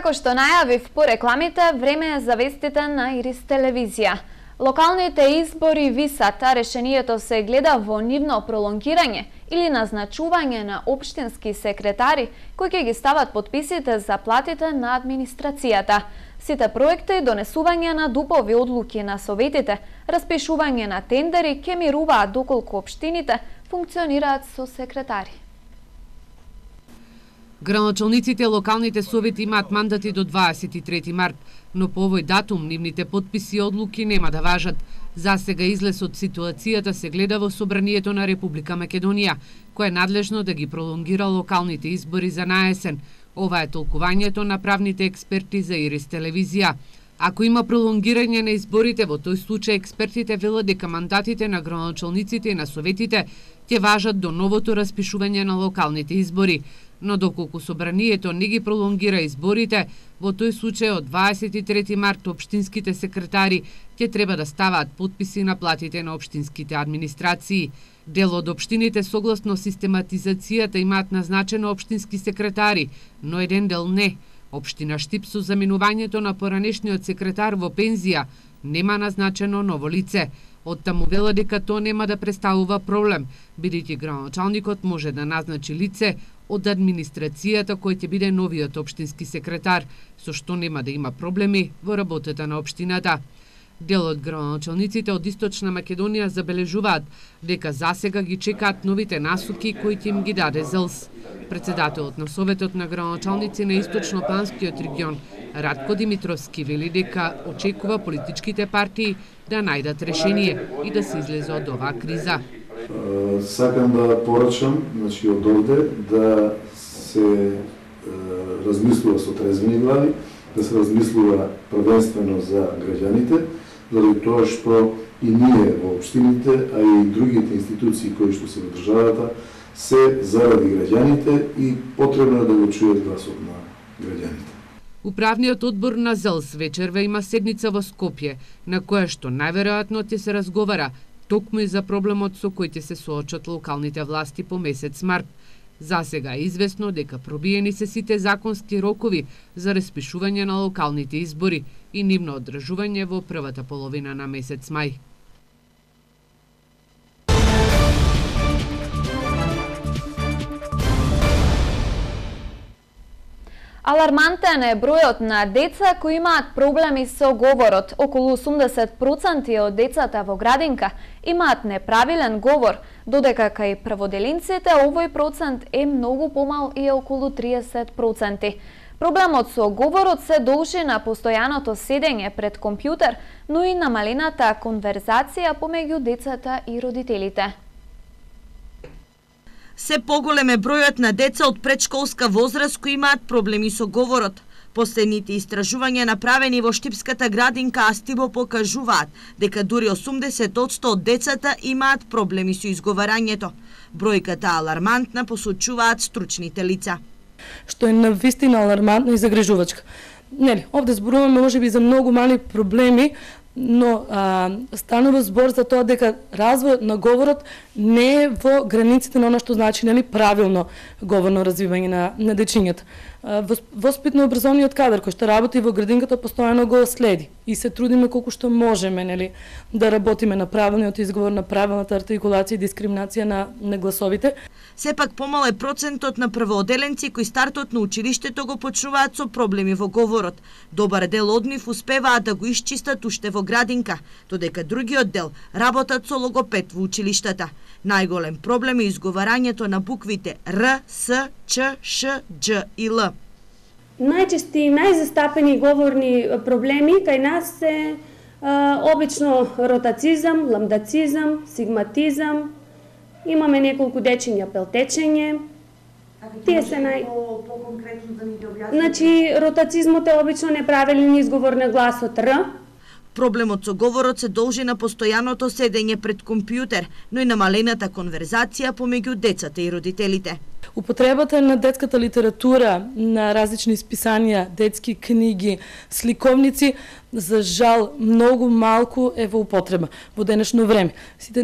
Како што најавив по рекламите, време е за вестите на Ирис телевизија. Локалните избори висат, а решението се гледа во нивно пролонгирање или назначување на општински секретари кои ќе ги стават подписите за платите на администрацијата. Сите проекти, донесување на дупови одлуки на советите, распишување на тендери ќе мируваат доколку општините функционираат со секретари. Градоначалниците локалните совети имаат мандати до 23 март, но по овој датум нивните подписи и одлуки нема да важат. За сега излез од ситуацијата се гледа во Собранието на Република Македонија, кое е надлежно да ги пролонгира локалните избори за наесен. Ова е толкувањето на правните експерти за Ирис телевизија. Ако има пролонгирање на изборите, во тој случај експертите велат дека мандатите на градоначалниците и на советите ќе важат до новото распишување на локалните избори. Но доколку Собранието не ги пролонгира изборите, во тој случај од 23 март општинските секретари ќе треба да ставаат подписи на платите на општинските администрации. Дел од општините согласно систематизацијата имаат назначено општински секретари, но еден дел не. Општина Штип со заминувањето на поранешниот секретар во пензија нема назначено ново лице. Оттаму вела дека тоа нема да представува проблем, бидејќи градоначалникот може да назначи лице од администрацијата кој ќе биде новиот општински секретар, со што нема да има проблеми во работата на општината. Дел од градоначалниците од Источна Македонија забележуваат дека засега ги чекаат новите насоки кои ќе им ги даде ЗЛС. Председателот на Советот на градоначалници на Источно-Планскиот регион, Радко Димитровски, вели дека очекува политичките партии да најдат решение и да се излезе од оваа криза. Сакам да порачам, од овде, да се размислува со трезвени глави, да се размислува првенствено за граѓаните, заради тоа што и ние во општините, а и другите институции кои што се во државата, се заради граѓаните и потребно да го чујат гласот на граѓаните. Управниот одбор на ЗЛС вечерва има седница во Скопје, на која што најверојатно ќе се разговара токму и за проблемот со кој ќе се соочат локалните власти по месец март. Засега е известно дека пробиени се сите законски рокови за распишување на локалните избори и нивно одржување во првата половина на месец мај. Алармантен е бројот на деца кои имаат проблеми со говорот. Околу 80% од децата во градинка имаат неправилен говор, додека кај преводелинците овој процент е многу помал и е околу 30%. Проблемот со говорот се должи на постојаното седење пред компјутер, но и намалената конверзација помеѓу децата и родителите. Се поголем е бројот на деца од предшколска возраст кои имаат проблеми со говорот. Последните истражувања направени во Штипската градинка Астибо покажуваат дека дури 80% од децата имаат проблеми со изговарањето. Бројката алармантна, посочуваат стручните лица. Што е навистина алармантно и загрижувачка. Нели, овде зборуваме можеби за многу мали проблеми, но станува збор за тоа дека развојот на говорот не е во границите на она што значи правилно говорно развивање на дечињата. Воспитно-образовниот кадар кој што работи во градинката постојано го следи и се трудиме колку што можеме да работиме на правилниот изговор, на правилната артикулација и дискриминација на гласовите. Сепак помал е процентот на првооделенци кои стартот на училиштето го почнуваат со проблеми во говорот. Добар дел од нив успеваат да го исчистат уште во градинка, додека другиот дел работат со логопед во училиштата. Најголем проблем е изговарањето на буквите Р, С, Ч, Ш, Дж и Л. Најчести и најзастапени говорни проблеми кај нас се обично ротацизам, ламдацизам, сигматизам. Имаме неколку дечиња пелтечење. Тие се по-конкретно да ни ги објасните. Значи, ротацизмот е обично неправилен изговор на гласот Р. Проблемот со говорот се должи на постојаното седење пред компјутер, но и намалената конверзација помеѓу децата и родителите. Употребата на детската литература, на различни списанија, детски книги, сликовници, за жал многу малку е во употреба во денешно време. Сите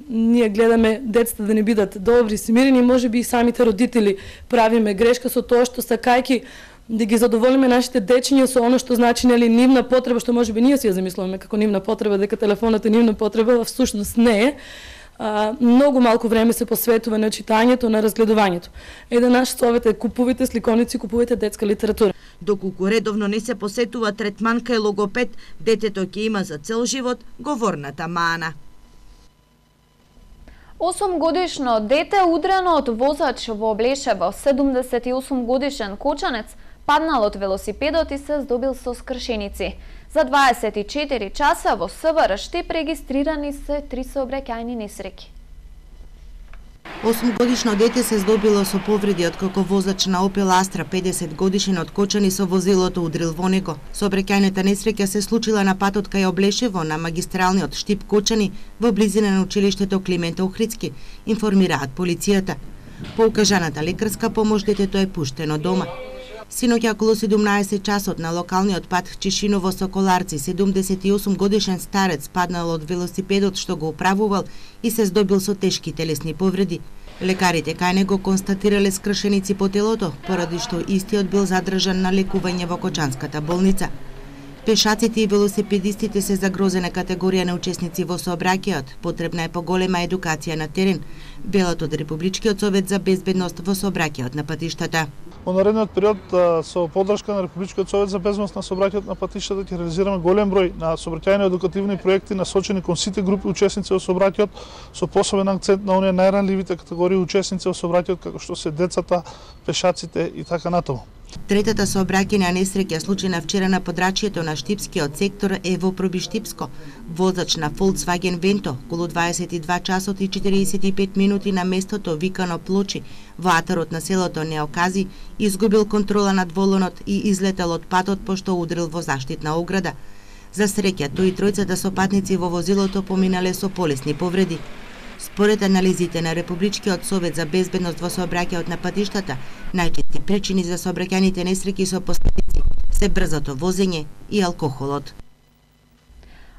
ние гледаме децата да не бидат добри, смирени, можеби и самите родители правиме грешка со тоа што сакајки да ги задоволиме нашите дечиња со оно што значи нели нивна потреба, што можеби ние си ја замислуваме како нивна потреба, дека телефонот е нивна потреба, во всушност не е. Многу малку време се посветува на читањето, на разгледувањето. Еден наш совет е купувате сликоници, купувате детска литература. Доколку редовно не се посетува третман кај логопед, детето ќе има за цел живот говорната мана. 8-годишно дете удрено од возач во Облешево, 78-годишен кочанец паднал од велосипедот и се здобил со скршеници. За 24 часа во СВР Штип регистрирани се 3 сообраќајни несреќи. 8-годишно дете се здобило со повреди откако возач на Опел Астра 50 годишен од Кочани со возилото удрил во него. Сообраќајната несреќа се случила на патот кај Облешево на магистралниот Штип Кочани во близина на училиштето Климент Охридски, информираат полицијата. По укажаната лекарска помош детето е пуштено дома. Синоќа околу 17 часот на локалниот пат Чешиново Соколарци 78 годишен старец паднал од велосипедот што го управувал и се здобил со тешки телесни повреди. Лекарите кај него констатирале скршеници по телото, поради што истиот бил задржан на лекување во Кочанската болница. Пешаците и велосипедистите се загрозена категорија на учесници во сообраќајот. Потребна е поголема едукација на терен, велат од Републичкиот совет за безбедност во сообраќајот на патиштата. Во наредниот период со поддршка на Републичкиот совет за безбедност на сообраќајот на патиштата ќе реализираме голем број на сообраќајни едукативни проекти насочени кон сите групи учесници во сообраќајот, со посебен акцент на оние најранливите категории учесници во сообраќајот како што се децата, пешаците и така натаму. Третата сообраќајна несреќа случена вчера на подрачјето на Штипскиот сектор е во Пробиштипско. Возач на Volkswagen Vento околу 22 часот и 45 минути на местото викано Плочи во атарот на селото Неокази изгубил контрола над волонот и излетел од патот пошто удрил во заштитна ограда. За среќа, тој и тројцата сопатници во возилото поминале со полесни повреди. Според анализите на Републичкиот совет за безбедност во сообраќајот на патиштата, најчести причини за сообраќајните несреќи со последици се брзото возење и алкохолот.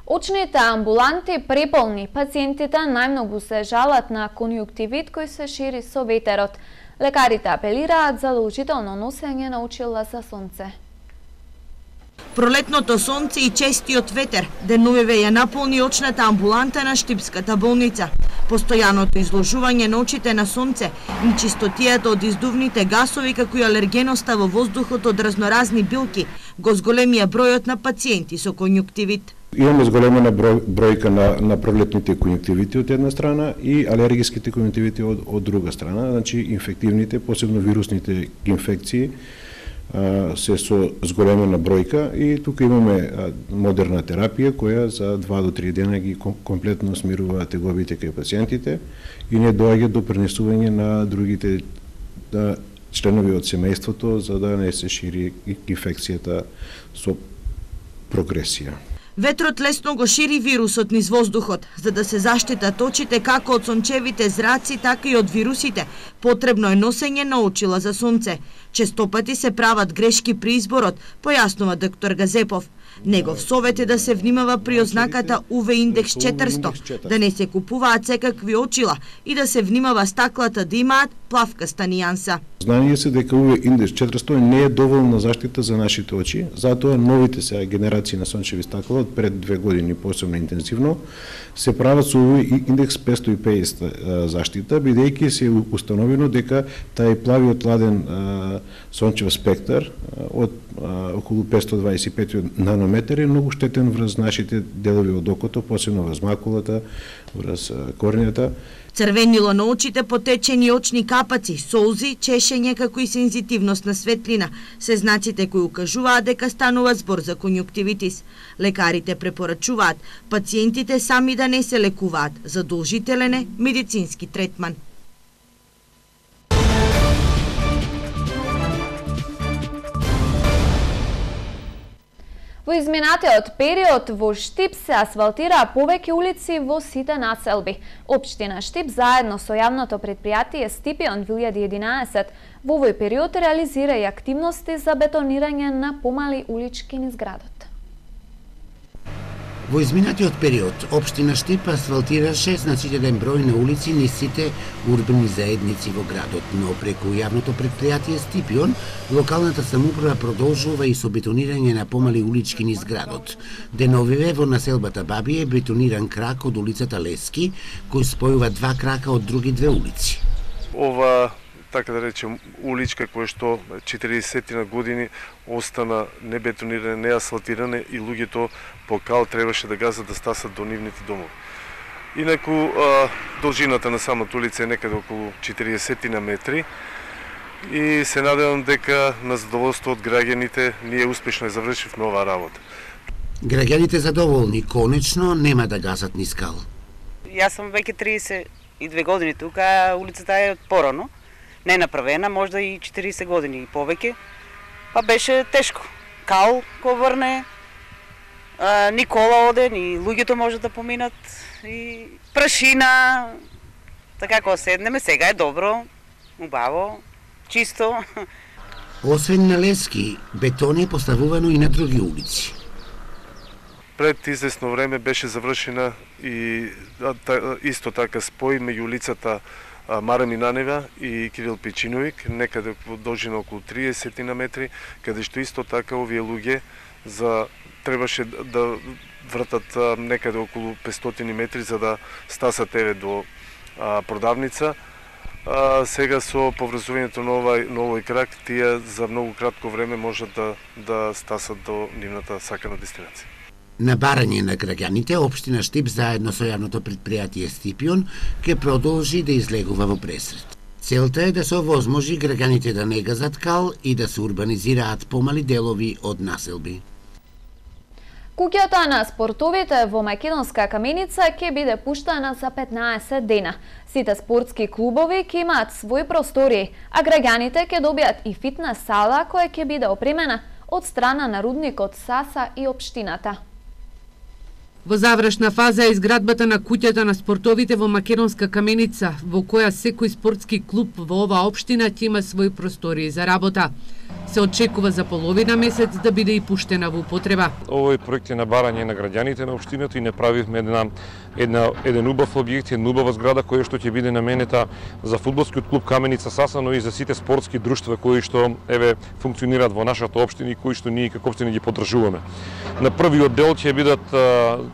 Очните амбуланти преполни, пациентите најмногу се жалат на конјуктивит кој се шири со ветерот. Лекарите апелираат за задолжително носење на очила за сонце. Пролетното сонце и честиот ветер деновиве ја наполни очната амбуланта на Штипската болница. Постојаното изложување на очите на сонце и чистотијата од издувните гасови како и алергеноста во воздухот од разноразни билки го зголемија бројот на пациенти со конјуктивит. Имаме зголемена бројка на пролетните конјуктивити од една страна и алергиските конјуктивити од друга страна, значи инфективните, посебно вирусните инфекции се со зголемена бројка и тука имаме модерна терапија која за 2 до 3 дена ги комплетно смирува тегобите кај пациентите и не доаѓа до пренесување на другите членови од семејството за да не се шири инфекцијата со прогресија. Ветрот лесно го шири вирусот низ воздухот. За да се заштитат очите како од сончевите зраци, така и од вирусите, потребно е носење на очила за сонце. Честопати се прават грешки при изборот, појаснува доктор Газепов. Негов совет е да се внимава при ознаката UV индекс 400, да не се купуваат секакви очила и да се внимава стаклата да имаат плавкаста нијанса. Знание се дека UV индекс 400 не е доволна заштита за нашите очи, затоа новите сега генерации на сончеви стакла од пред 2 години посебно интензивно се прават со UV индекс 550 заштита, бидејќи се установено дека тај плавиот ладен сончев спектар од околу 525 нанометри е многу штетен врз нашите делови од окото, посебно врз макулата, врз корнијата. Црвенило на очите, потечени очни капаци, солзи, чешење како и сензитивност на светлина се знаците кои укажуваат дека станува збор за конјуктивитис. Лекарите препорачуваат пациентите сами да не се лекуваат, задолжителен е медицински третман. Во изминатиот период во Штип се асфалтираа повеќе улици во сите населби. Општина Штип заедно со јавното предпријатие Стипион 2011 во овој период реализира и активности за бетонирање на помали улички низ градот. Во изминатиот период, општина Штип асфалтираше значителен број на улици низ сите урбани заедници во градот, но преку јавното претпријатие Стипион, локалната самоуправа продолжува и со бетонирање на помали улички низ градот. Деновиве во населбата Баби е бетониран крак од улицата Лески, кој спојува два крака од други две улици. Ова, така да речем, уличка која што 40 на години остана не бетонирана, не асфалтирана и луѓето по кал требаше да газат да стасат до нивните домови. Инаку, должината на самата улица е некаде околу 40 на метри и се надевам дека на задоволство од граѓаните ние успешно завршивме оваа работа. Граѓаните задоволни, конечно нема да газат низ кал. Јас сум веќе 32 години тука, улицата е од порано. Не е направена, можда и 40 години и повеќе. Па беше тешко. Кал ко врне, ни кола оде, ни луѓето можат да поминат, и прашина. Така кога седнеме, сега е добро, убаво, чисто. Освен на Лески, бетон е поставувано и на други улици. Пред известно време беше завршена и исто така спој меѓу улицата Мара Минанева и Кирил Печиновик, некаде во должина околу 30 на метри, каде што исто така овие луѓе требаше да вртат некаде околу 500 метри за да стасат до продавница. Сега со поврзувањето на овој крак, тие за многу кратко време можат да стасат до нивната сакана дестинација. На барање на граѓаните, општина Штип заедно со јавното претпријатие Стипион ќе продолжи да излегува во пресрет. Целта е да се овозможи граѓаните да не газат кал и да се урбанизираат помали делови од населби. Куќата на спортовите во Македонска каменица ќе биде пуштана за 15 дена. Сите спортски клубови ќе имаат своји простории, а граѓаните ќе добијат и фитнес сала која ќе биде опремена од страна на рудникот Саса и општината. Во завршна фаза е изградбата на куќата на спортовите во Македонска каменица, во која секој спортски клуб во оваа општина ќе има своји простории за работа. Се очекува за половина месец да биде и пуштена во употреба. Овој проект е на барање на граѓаните на општината и не правивме еден убав објект, една убава зграда која што ќе биде наменета за фудбалскиот клуб Каменица Саса, но и за сите спортски друштва кои што функционираат во нашата општина и кои што ние како општина ги поддржуваме. На првиот дел ќе бидат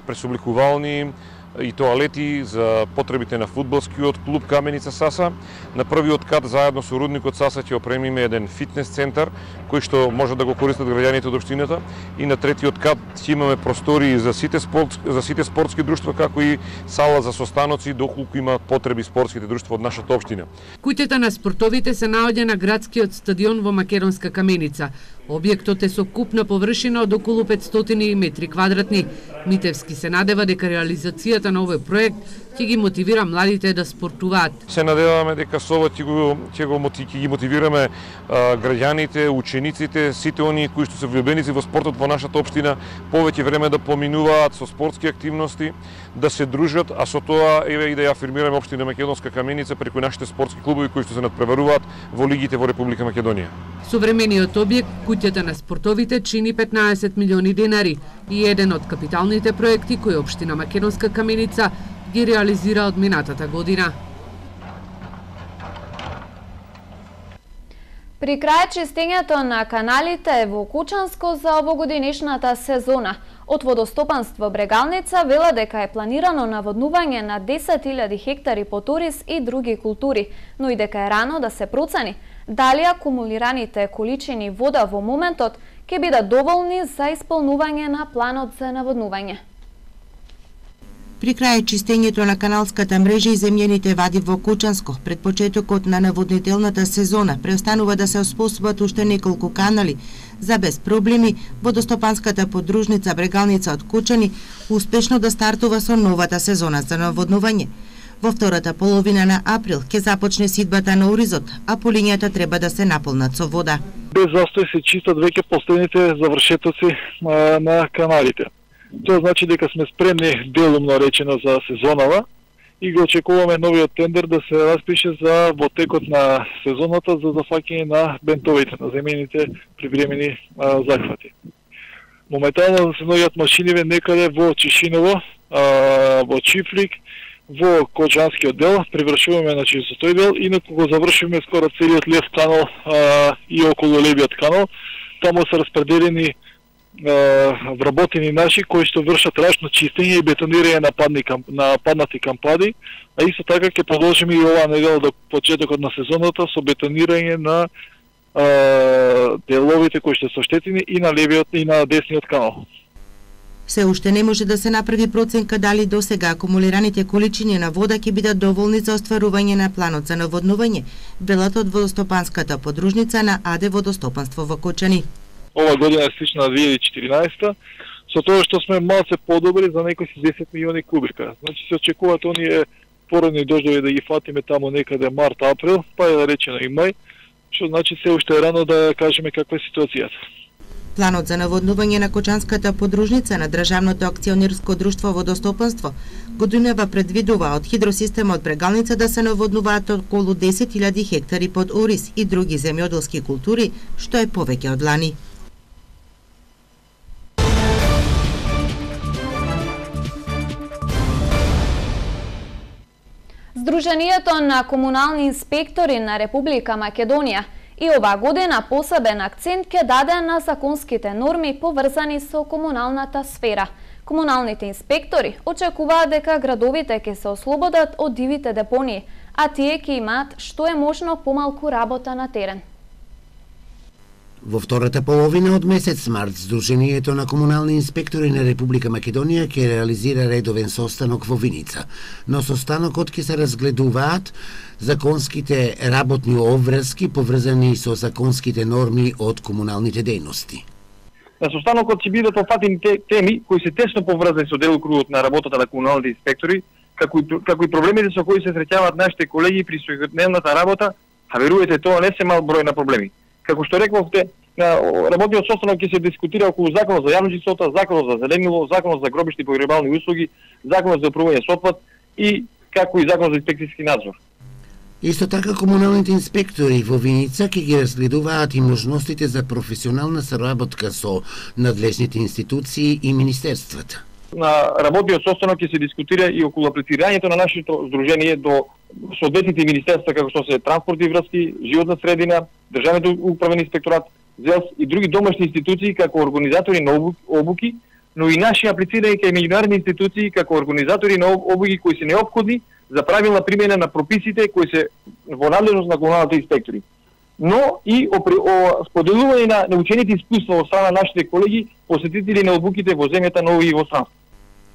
пресобликувални и тоалети за потребите на фудбалскиот клуб Каменица Саса. На првиот кат заедно со рудникот Саса ќе опремиме еден фитнес центар кој што може да го користат граѓаните од општината, и на третиот кат ќе имаме простории за сите спортски друштва, како и сала за состаноци доколку има потреби спортските друштва од нашата општина. Куќата на спортовите се наоѓа на градскиот стадион во Македонска каменица. Објектот е со купна површина од околу 500 метри квадратни. Митевски се надева дека реализацијата на овој проект ќе ги мотивира младите да спортуваат. Се надеваме дека со ова ќе ги мотивираме граѓаните, учениците, сите оние кои што се влюбеници во спортот во нашата општина, повеќе време да поминуваат со спортски активности, да се дружат, а со тоа и да ја афирмираме општина Македонска каменица преку нашите спортски клубови кои што се надпреваруваат во лигите во Република Македонија. Современиот објект, куќата на спортовите, чини 15 милиони денари и еден од капиталните проекти кои општина Македонска каменица ги реализира од минатата година. При крај чистењето на каналите во Кучанско за овогодинешната сезона. Од водостопанство Брегалница вела дека е планирано наводнување на 10.000 хектари поторис и други култури, но и дека е рано да се процени дали акумулираните количини вода во моментот ќе бидат доволни за исполнување на планот за наводнување. При крај чистењето на каналската мрежа и земјените вади во Кучанско, пред почетокот на наводнителната сезона, преостанува да се оспособат уште неколку канали. За без проблеми, водостопанската подружница Брегалница од Кучани успешно да стартува со новата сезона за наводнување. Во втората половина на април ќе започне сидбата на оризот, а полињата треба да се наполнат со вода. Без застој се чистат веќе последните завршетоци на каналите. Тоа значи дека сме спремни делумно речено за сезонава и го очекуваме новиот тендер да се распише за во текот на сезоната за зафаќање на бентовите, на земјените привремени захвати. Моментално се наоѓаат машиниве некаде во Чишиново, во Чифлик, во Кочански оддел, привршуваме со тој дел, инаку го завршиме скоро целиот Лев канал и околу Левиот канал. Таму се распределени вработени наши кои што вршат рачно чистење и бетонирање на паднати кампади, а исто така ќе продолжиме и оваа недела до почетокот на сезоната со бетонирање на деловите кои што се оштетени и на левиот и на десниот канал. Се уште не може да се направи проценка дали досега акумулираните количини на вода ќе бидат доволни за остварување на планот за наводнување, велат од водостопанската подружница на АД Водостопанство во Кочани. Ова година е слична на 2014, со тоа што сме малце подобри за некои 10 милиони кубика. Значи се очекуваат оние породни дождови да ги фатиме таму некаде март-април, па е да речено и мај, што значи се уште е рано да кажеме каква е ситуацијата. Планот за наводнување на Кочанската подружница на Државното акционерско друштво Водостопанство годинава предвидува од хидросистемот Брегалница да се наводнуваат околу 10.000 хектари под ориз и други земјоделски култури, што е повеќе од лани. Сдруженијето на комунални инспектори на Република Македонија и оваа година посебен акцент ќе даде на законските норми поврзани со комуналната сфера. Комуналните инспектори очекуваат дека градовите ќе се ослободат од дивите депонии, а тие ќе имаат што е можно помалку работа на терен. Во втората половина од месец март, Сдруженијето на комунални инспектори на Република Македонија ќе реализира редовен состанок во Виница. Но состанокот ќе се разгледуваат законските работни обврски поврзани со законските норми од комуналните дејности. На состанокот ќе бидат опфатени теми кои се тесно поврзани со делокругот на работата на комуналните инспектори, како и проблемите со кои се среќаваат нашите колеги при секојдневната работа, а верувате тоа не се мал број на проблеми. Како што рековте, на работниот состанок ќе се дискутира околу законот за јавна чистота, законот за зеленило, законот за гробишти и погребални услуги, законот за управување со отпад и како и законот за инспекцијски надзор. Исто така комуналните инспектори во Виница ќе ги разгледуваат и можностите за професионална соработка со надлежните институции и министерствата. На работниот состанок ќе се дискутира и околу аплицирањето на нашето здружение до соодветните министерства како што се транспорт и врски, животна средина, државниот управен инспекторат, ЗЕЛС и други домашни институции како организатори на обуки, но и наши аплицирања кај меѓународни институции како организатори на обуки кои се неопходни за правилна примена на прописите кои се во надлежност на комуналните инспектори. Но и споделување на научените искуства од страна на нашите колеги посетители на обуките во земјата, но и во странство.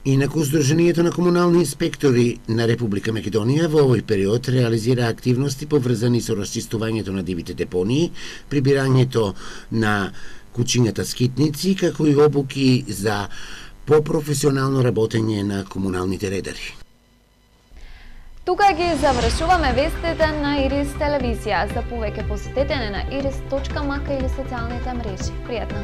Инаку Сдруженијето на комунални инспектори на Република Македонија во овој период реализира активности поврзани со расчистувањето на дивите депонии, прибирањето на кучињата скитници, како и обуки за попрофесионално работење на комуналните редари. Тука ги завршуваме вестите на Ирис телевизија. За повеќе посетете на iris.mk или социјалните мрежи. Пријатно!